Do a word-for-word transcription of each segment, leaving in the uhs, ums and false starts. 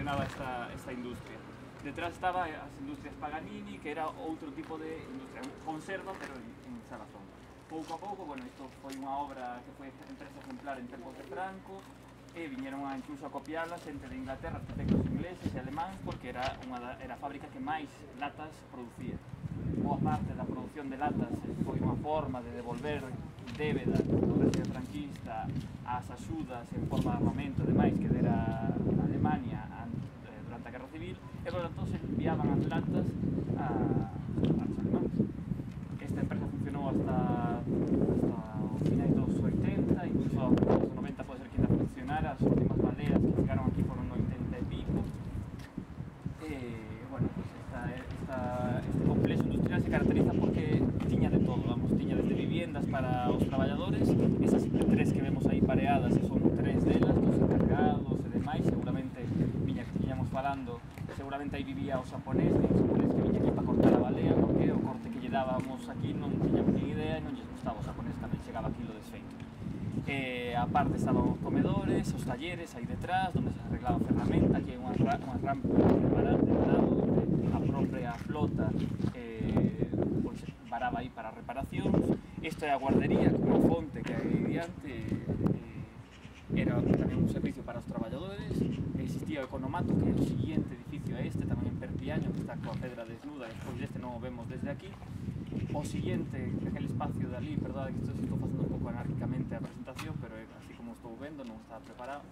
funcionaba esta, esta industria. Detrás estaba as industrias Paganini, que era outro tipo de industria, conserva, pero en, en salazón. Pouco a pouco, bueno, isto foi unha obra que foi empresa exemplar en tempos de Franco, e viñeron a, incluso a copiarla xente de Inglaterra, arquitectos ingleses e alemáns, porque era, unha, era a fábrica que máis latas producía. Boa parte da produción de latas foi unha forma de devolver débeda do réxime franquista ás axudas en forma de armamento e demais que dera a Alemania durante a Guerra Civil, e por tanto se enviaban as latas a, aos alemáns. Esta empresa funcionou hasta, hasta o final dos oitenta, incluso aos noventa pode ser que ainda funcionara, as últimas baleas que chegaron aquí foron no oitenta e pico. E, bueno, pues esta, esta, este complexo industrial se caracteriza porque tiña de todo, vamos, tiña desde viviendas para os traballadores, esas tres que vemos aí pareadas, e son tres delas, dos encargados e demais, seguramente, viña que tiñamos falando, seguramente aí vivía o xaponés, o xaponés que viña aquí para cortar a balea, porque o corte que lle dábamos aquí non tiñamos ni idea e non lles gustaba, o xaponés tamén chegaba aquí lo desfeito. Eh, a parte estaban os comedores, os talleres aí detrás, onde se arreglaba ferramenta, aquí hai unha, unha rampa de varado, onde a propia flota eh, pues, varaba aí para reparacións. Isto é a guardería, como fonte que hai diante, eh, era tamén un servicio para os traballadores. Existía o economato, que é o siguiente edificio a este, tamén en Perpiaño, que está coa pedra desnuda, despois deste non o vemos desde aquí. O siguiente, aquel espacio de ali, perdón, que estou facendo un pouco anárquicamente a presentación, pero así como estou vendo, non está preparado,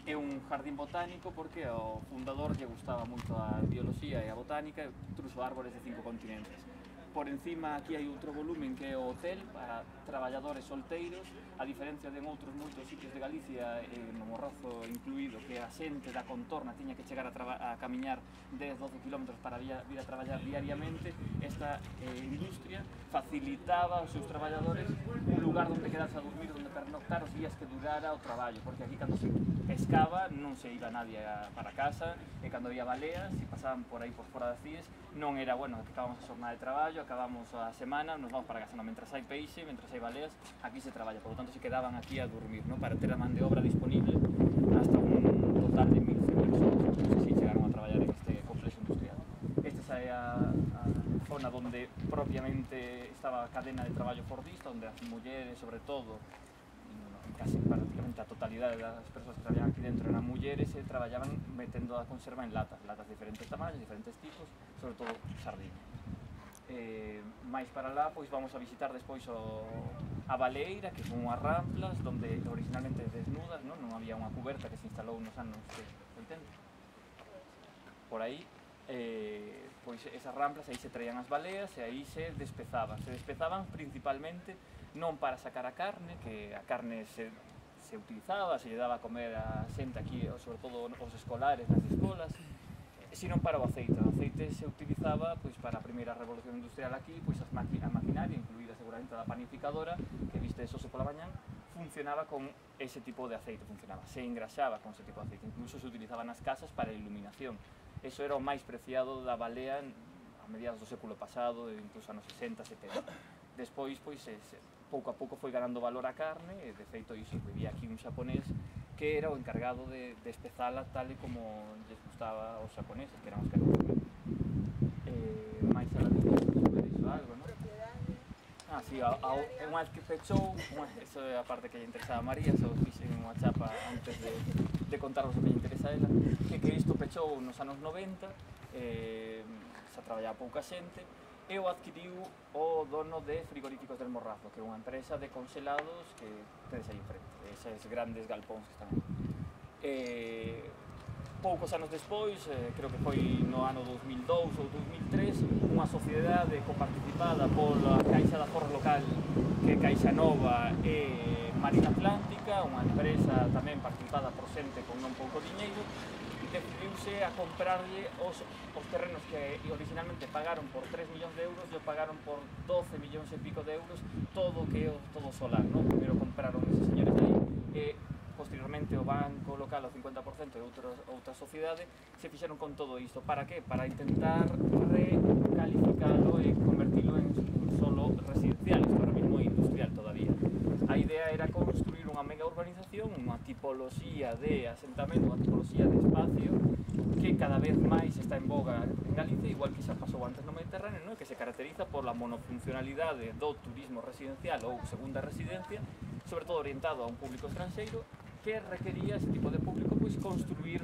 é un jardín botánico porque ao fundador lle gustaba moito a biología e a botánica e truxo árbores de cinco continentes. Por encima aquí hai outro volumen que é o hotel para traballadores solteiros, a diferencia de outros moitos sitios de Galicia, eh, no Morrazo incluído, que a xente da contorna tiña que chegar a, a camiñar dez a doce kilómetros para vir a traballar diariamente. Esta eh, industria facilitaba aos seus traballadores un lugar onde quedarse a dormir, onde pernoctar os días que durara o traballo, porque aquí cando se pescaba non se iba nadie a, para casa, e cando había baleas, se pasaban por aí por fora das cíes, non era, bueno, que acabamos a xornada de traballo, acabamos a semana, nos vamos para casa, non, mentras hai peixe, mentras hai baleas, aquí se traballa, por lo tanto se quedaban aquí a dormir, ¿no? Para ter a man de obra disponible hasta un total de mil cien personas, non sei se chegaron a traballar en este complexo industrial. Esta é a, a zona onde propiamente estaba a cadena de traballo fordista, onde as mulleres, sobre todo, casi prácticamente a totalidade das persoas que traballaban aquí dentro eran mulleres e traballaban metendo a conserva en latas, latas de diferentes tamaños, diferentes tipos, sobre todo sardina. Eh, máis para lá, pois vamos a visitar despois o, a baleeira, que son unhas ramplas onde originalmente desnudas, non, non había unha cuberta que se instalou nos anos oitenta. Por aí, eh, pois esas ramplas, aí se traían as baleas e aí se despezaban. Se despezaban principalmente non para sacar a carne, que a carne se, se utilizaba, se lle daba a comer a xente aquí, sobre todo os escolares nas escolas, sino para o aceite. O aceite se utilizaba pois, para a primeira revolución industrial aquí, pois as maqui a maquinaria, incluída seguramente a da panificadora, que viste eso pola mañán, funcionaba con ese tipo de aceite, funcionaba, se engraxaba con ese tipo de aceite, incluso se utilizaba nas casas para a iluminación. Eso era o máis preciado da balea a mediados do século pasado, incluso anos sesenta, setenta. Despois, pois, se, pouco a pouco foi ganando valor a carne, e de feito iso, vivía aquí un xaponés que era o encargado de, de espezala tal e como lles gustaba aos xaponeses, que eran os que eh, máis a la vida sobre iso algo, non? Ah, si, sí, unha vez que pechou, eso é a parte que lle interesaba a María, só fixen unha chapa antes de, de contarvos o que lle interesa a ela, que, que isto pechou nos anos noventa, eh, se traballaba pouca xente, e o adquiriu o dono de Frigoríficos del Morrazo, que é unha empresa de congelados que tedes aí enfrente, eses grandes galpóns que están aí. Eh, poucos anos despois, eh, creo que foi no ano dos mil dous ou dos mil tres, unha sociedade coparticipada pola Caixa de Aforro Local, que é Caixa Nova e Marina Atlántica, unha empresa tamén participada por xente con non pouco diñeiro, decidiuse a comprarlle os, os terrenos que originalmente pagaron por tres millóns de euros, e o pagaron por doce millóns e pico de euros, todo o que é todo solar, non? Primeiro compraron eses señores aí, e posteriormente o banco local ao cincuenta por cento e outra, outra sociedade se fixeron con todo isto. Para que? Para intentar recalificalo e convertilo en solo residencial, isto ahora mismo é industrial todavía. A idea era construir unha mega urbanización, unha tipoloxía de asentamento, unha tipoloxía de espacio que que cada vez máis está en boga en Galicia, igual que xa pasou antes no Mediterráneo, no? Que se caracteriza pola monofuncionalidade do turismo residencial ou segunda residencia, sobre todo orientado a un público estranxeiro, que requería ese tipo de público pois construir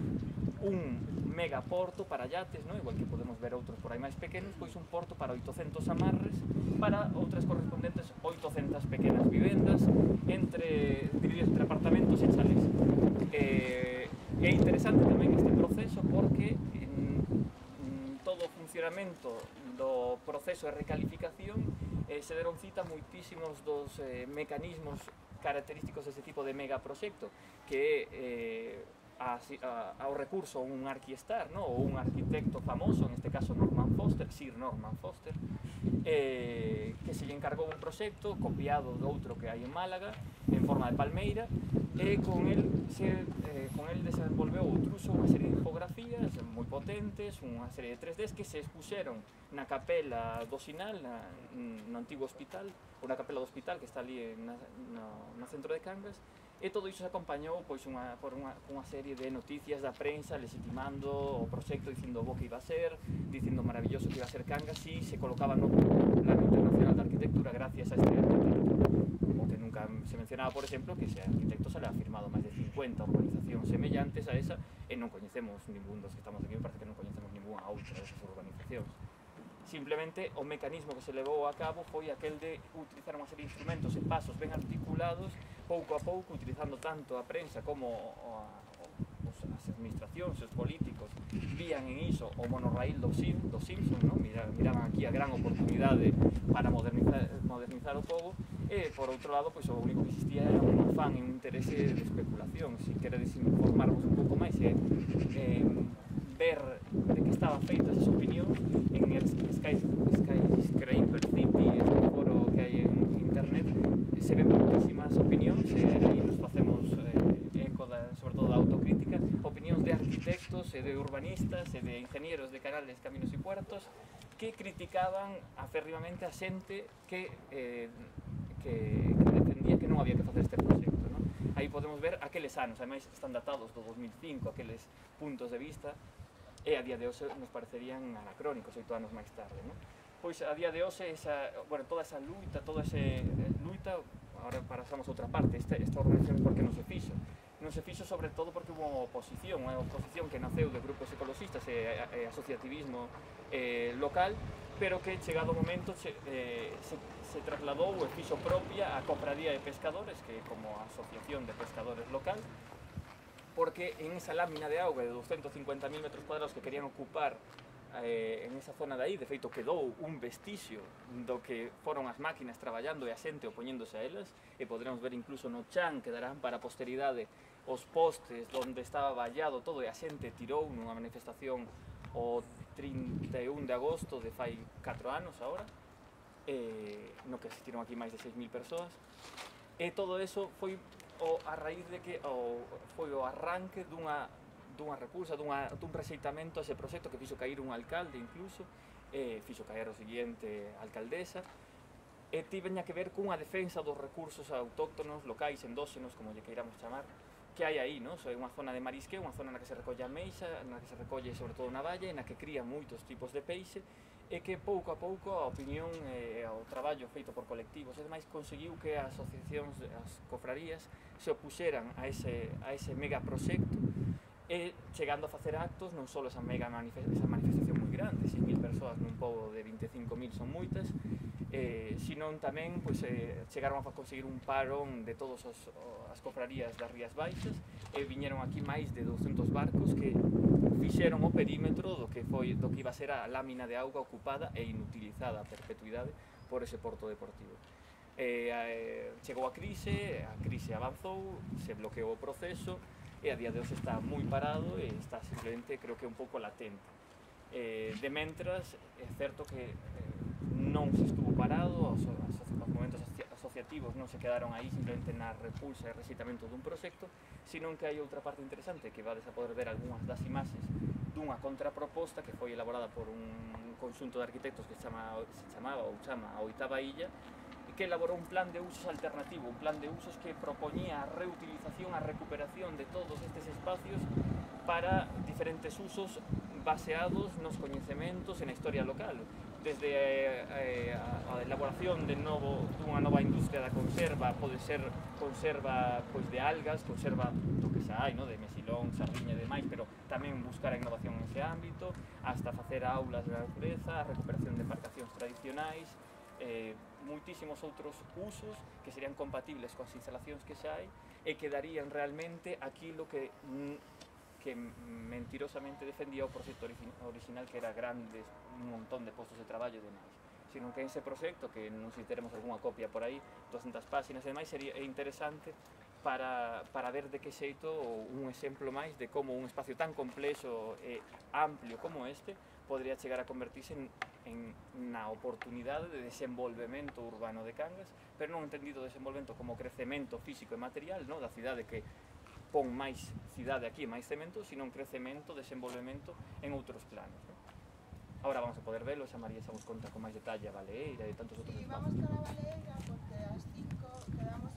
un megaporto para yates, no? Igual que podemos ver outros por aí máis pequenos, pois un porto para oitocentos amarres para outras correspondentes oitocentas pequenas vivendas entre divididos entre apartamentos e chalés. Eh, é interesante tamén este proceso porque en, en todo o funcionamento do proceso de recalificación eh, se deron cita moitísimos dos eh, mecanismos característicos deste tipo de megaproxecto, que é eh, a, a, ao recurso a un arquistar, no? Ou un arquitecto famoso, en este caso Norman Foster, Sir Norman Foster, eh, que se lle encargou un proxecto copiado de outro que hai en Málaga, en forma de palmeira, e con el, se, eh, con el desenvolveu outruso unha serie de infografías moi potentes, unha serie de tres Ds que se expuseron na capela do Sinal, na, no antigo hospital, ou na capela do hospital que está ali na, no, no centro de Cangas, e todo iso se acompañou pois, unha, por unha, unha serie de noticias da prensa legitimando o proxecto, dicindo o bo que iba a ser, dicindo o maravilloso que iba a ser Cangas, e se colocaba no Plano Internacional de Arquitectura gracias a este arquitecto. O que nunca se mencionaba, por exemplo, que ese arquitecto se le ha firmado máis de cincuenta urbanizacións semellantes a esa, e non coñecemos ningún dos que estamos aquí, me parece que non coñecemos ninguna outra desas urbanizacións. Simplemente o mecanismo que se levou a cabo foi aquel de utilizar unha serie de instrumentos e pasos ben articulados, pouco a pouco, utilizando tanto a prensa como a, os, as administracións, os políticos, vían en iso o monorraíl do, Sim, do Simpson, ¿no? Mira, miraban aquí a gran oportunidade para modernizar, modernizar o pobo, e por outro lado, pois, o único que existía era un afán e un interese de especulación. Se queredes informarvos un pouco máis e eh, ver de que estaban feitas as opinións en el Sky, Skyscraper City, este foro que hai en internet, se ven muchísimas opinións, e aí nos facemos eh, eco da, sobre todo da autocrítica, opinións de arquitectos e de urbanistas e de ingenieros de canales, caminos e puertos que criticaban aférrimamente a xente que, eh, que, que defendía que non había que facer este proxecto, ¿no? Aí podemos ver aqueles anos, ademais están datados do dos mil cinco, aqueles puntos de vista, e a día de hoxe nos parecerían anacrónicos, oito anos máis tarde, ¿no? Pois a día de hoxe, esa, bueno, toda esa luita, toda esa luita, agora pasamos a outra parte, esta, esta organización porque non se fixo. Non se fixo sobre todo porque hubo oposición, unha oposición que naceu de grupos ecologistas e, e asociativismo eh, local, pero que chegado o momento che, eh, se, se trasladou e fixo propia a Cofradía de Pescadores, que como asociación de pescadores local, porque en esa lámina de auga de doscientos cincuenta mil metros cuadrados que querían ocupar eh, en esa zona de aí, de feito quedou un vestixio do que foron as máquinas traballando e a xente opoñéndose a elas, e poderemos ver incluso no chan, quedarán para a posteridade os postes onde estaba vallado todo, e a xente tirou nunha manifestación o trinta e un de agosto de fai catro anos agora, eh, no que asistiron aquí máis de seis mil persoas, e todo eso foi o, a raíz de que o, foi o arranque dunha, dunha repulsa, dunha, dun rexeitamento a ese proxecto que fixo caer un alcalde incluso, eh, fixo caer o seguinte alcaldesa, e tiveña que ver cunha defensa dos recursos autóctonos, locais, endóxenos, como lle queiramos chamar, que hai aí, non? É unha zona de marisqueo, unha zona na que se recolle a meixa, na que se recolle sobre todo na valla, na que cría moitos tipos de peixe, e que pouco a pouco a opinión e o traballo feito por colectivos e demais conseguiu que as asociacións, as cofrarías, se opuxeran a ese, a ese megaproxecto, e chegando a facer actos, non só esa mega manifestación, esa manifestación moi grande, seis mil persoas nun pobo de vinte e cinco mil son moitas, eh, senón tamén pois, eh, chegaron a conseguir un parón de todas as, as cofrarías das Rías Baixas, e viñeron aquí máis de douscentos barcos que fixeron o perímetro do que foi do que iba a ser a lámina de auga ocupada e inutilizada a perpetuidade por ese porto deportivo. Eh, eh, chegou a crise, a crise avanzou, se bloqueou o proceso, e a día de hoxe está moi parado e está simplemente, creo que un pouco latente. Eh, de mentras, é certo que eh, non se estuvo parado, os, os, os momentos asociativos non se quedaron aí simplemente na repulsa e rexeitamento dun proxecto, senón que hai outra parte interesante que vades a poder ver algunhas das imaxes dunha contraproposta que foi elaborada por un conxunto de arquitectos que se, chama, se chamaba ou chama a Oitava Illa, que elaborou un plan de usos alternativo, un plan de usos que propoñía a reutilización, a recuperación de todos estes espacios para diferentes usos baseados nos coñecementos e na historia local, desde eh, a, a elaboración de novo, dunha nova industria da conserva, pode ser conserva pois, de algas, conserva do que xa hai, no? De mesilón, sardiña e demais, pero tamén buscar a innovación nese ámbito, hasta facer aulas de natureza, a recuperación de embarcacións tradicionais, eh, moitísimos outros usos que serían compatibles coas instalacións que xa hai e que darían realmente aquilo que que mentirosamente defendía o proxecto original, que era grandes, un montón de postos de traballo e demais, sino que ese proxecto, que non sei se teremos algunha copia por aí, doscientas páxinas e demais, sería interesante para, para ver de que xeito un exemplo máis de como un espacio tan complexo e amplio como este podría chegar a convertirse en, en na oportunidade de desenvolvemento urbano de Cangas, pero non entendido desenvolvemento como crecemento físico e material, no? Da cidade que pon máis cidade aquí, máis cemento, sino un crecemento, desenvolvemento en outros planos, ¿no? Ahora vamos a poder verlo, xa María xa vos conta con máis detalle a Baleeira e tantos outros Sí, espacios. vamos cara a Baleeira porque ás cinco quedamos